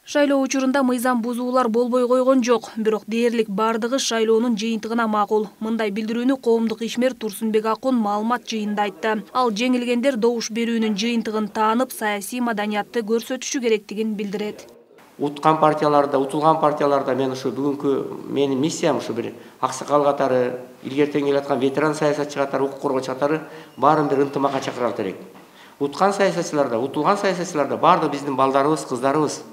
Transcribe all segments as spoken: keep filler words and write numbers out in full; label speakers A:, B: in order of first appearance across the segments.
A: Шайлоо учурунда мыйзам бузуулар болбой койгон жок, бирок дээрлик бардыгы шайлоонун жыйынтыгына макул. Мындай билдирүүнү коомдук ишмер Турсунбек Акун маалымат жыйынында айтты. Ал жеңилгендер добуш берүүнүн жыйынтыгын таанып, саясий маданиятты көрсөтүшү керектигин билдирет.
B: Уткан партияларда, утулган партияларда мен ушу бүгүнкү менин миссиям ушу бир аксакал катары, илгертен келаткан ветеран саясатчы катары, укук коргоочу катары баарын бир ынтымакка чакыралы керек. Уткан саясатчыларда, утулган саясатчыларда баардыгы биздин балдарыбыз, кыздарыбыз.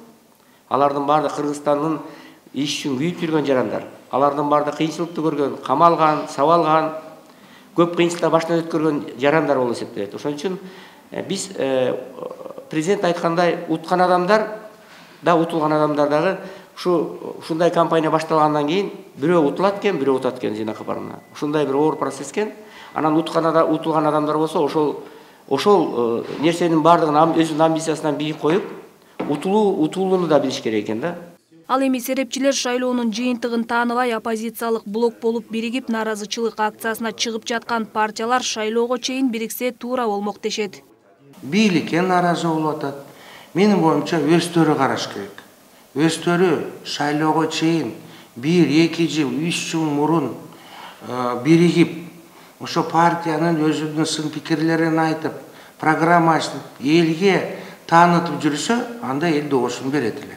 B: Алардын баардыгы Кыргызстандын иш үчүн күйүп жүргөн жарандар. Алардын баардыгы кыйынчылыкты көргөн, камалган, сабалган, көп кыйынчылыктар башынан өткөргөн жарандар болуп эсептелет. Ошон үчүн биз президент айткандай уткан адамдар да, утулган адамдар дагы ушу ушундай кампания башталгандан кийин бирөө утулат экен, бирөө утат экен жыйнакы барымына. Ушундай бир оор процесс экен. Анан уткан утулган адамдар болсо ошол ошол нерсенин баардыгын өзүнүн амбициясынан бийик коюп, утулуу утулууну да билиш керек экен да.
A: Ал эми серепчилер шайлоонун жыйынтыгын тааныбай оппозициялык блок болуп биригип наразычылык акциясына чыгып жаткан партиялар шайлоого чейин бириксе туура болмок дешет.
C: Бийликке наразы болуп атат. Менин боюмча өздөрү караш керек. Өздөрү шайлоого чейин бир, эки жыл, үч жыл мурун биригип, ошо партиянын өзүнүн сын пикирлерин айтып, программасын элге таанытып жүрсө, анда эл добушун берет эле.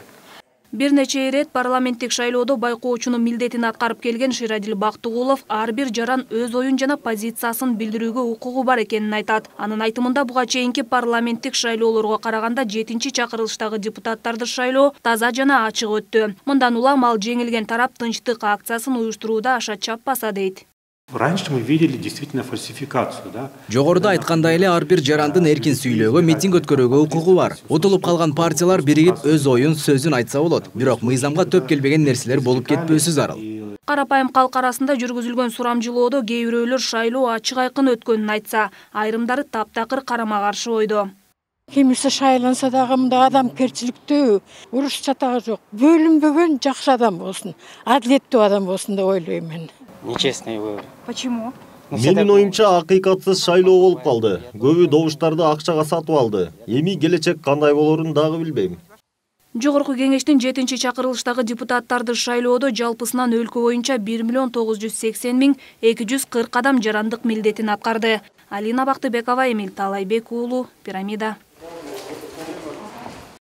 A: Бир нече ирет парламенттик шайлоодо байкоочунун милдетин аткарып келген Ширадил Бактыгулов ар бир жаран өз оюн жана позициясын билдирүүгө укугу бар экенин айтат. Анын айтымында буга чейинки парламенттик шайлоолорго караганда жетинчи чакырылыштагы депутаттарды шайлоо таза жана ачык өттү. Мындан улам ал жеңилген тарап тынчтык акциясын уюштурууда аша чаппаса дейт.
D: Раньше мы видели действительно фальсификацию, да?
E: Жогоруда айткандай эле ар бир жарандын эркин сүйлөөгө, митинг өткөрүүгө укугу бар. Утулуп калган партиялар биригип өз оюн, сөзүн айтса болот. Бирок мыйзамга төп келбеген нерселер болуп кетпөөсү зарыл.
A: Карапайым калк арасында жүргүзүлгөн сурамжылоодо кээ бирөөлөр шайлоо ачык айкын өткөнүн айтса, айрымдары таптакыр карама каршы ойдо.
F: Кимиси шайланса дагы мындай адамгерчиликтүү, уруш чатагы жок, бөлүнбөгөн жакшы адам болсун, адилеттүү адам болсун деп ойлойм мен.
G: Нечестный выбор.
A: Почему?
H: Менин оюмча акыйкатсыз шайлоо болуп калды. Көбү добуштарды акчага сатып алды. Эми келечек кандай болорун дагы билбейм.
A: Жогорку кеңештин жетинчи чакырылыштагы депутаттарды шайлоодо жалпысынан өлкө боюнча бир миллион тогуз жүз сексен миң эки жүз кырк адам жарандык милдетин аткарды. Алина Бактыбекова, Эмил Талайбек уулу, Пирамида.